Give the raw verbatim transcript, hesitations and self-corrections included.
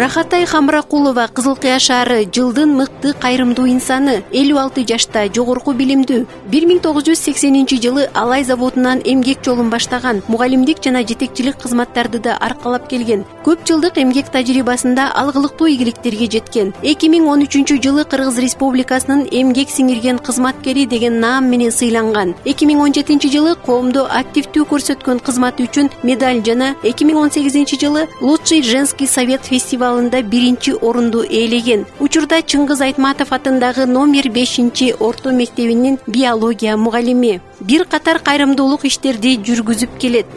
Рахатай Хамракулова Кызыл Кыя шаары жылдын мыкты кайрымдуу инсаны, элүү алты жашта, жогорку билимдүү. бир миң тогуз жүз сексенинчи жылы Алай заводунан эмгек жолун баштаган, мугалимдик жана жетекчилик кызматтарды да аркалап келген. Көп жылдык эмгек тажрыйбасында алгылыктуу ийгиликтерге жеткен. эки миң он үчүнчү жылы Кыргыз Республикасынын эмгек сиңирген кызматкери деген наам менен сыйланган. эки миң он жетинчи жылы коомдо активдүү көрсөткөн кызматы үчүн медаль жана эки миң он сегизинчи жылы Лучший женский совет фестивалында биринчи орунду ээлеген. Учурда Чыңгыз Айтматов атындагы номер бешинчи орто мектебинин биология мугалими. Бир катар кайрымдуулук иштерди жүргүзүп келет.